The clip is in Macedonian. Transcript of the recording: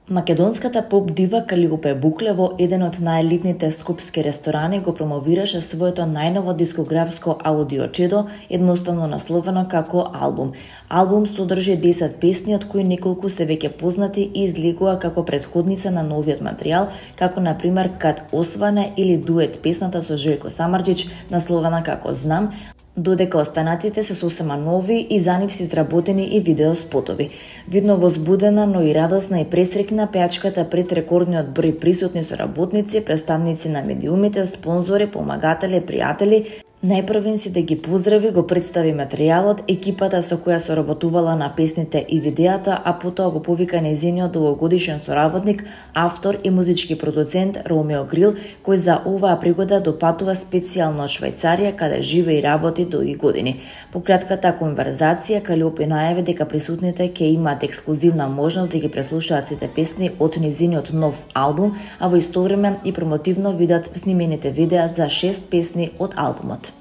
Македонската поп дива Калиопе Букле во еден од најелитните скопски ресторани го промовираше своето најново дискографско аудиочедо, едноставно насловено како албум. Албум содржи 10 песни, од кои неколку се веќе познати и излегува како претходница на новиот материјал, како на пример Кад осване или дует песната со Желко Самарџич, насловена како Знам, додека останатите се сосема нови и за нив се изработени и видео спотови. Видно возбудена, но и радосна и пресрекна, пејачката пред рекордниот број присутни соработници, представници на медиумите, спонзори, помагатели, пријатели, најпрвен си да ги поздрави, го представи материјалот, екипата со која соработувала на песните и видеата, а потоа го повика нејзиниот долгогодишен соработник, автор и музички продуцент Ромео Грил, кој за оваа пригода допатува специјално од Швајцарија, каде живее и работи долги години. По кратката конверзација, Калиопе најави дека присутните ќе имаат ексклузивна можност да ги преслушаат сите песни од нејзиниот нов албум, а во исто време и промотивно видат снимените видеа за 6 песни од албумот.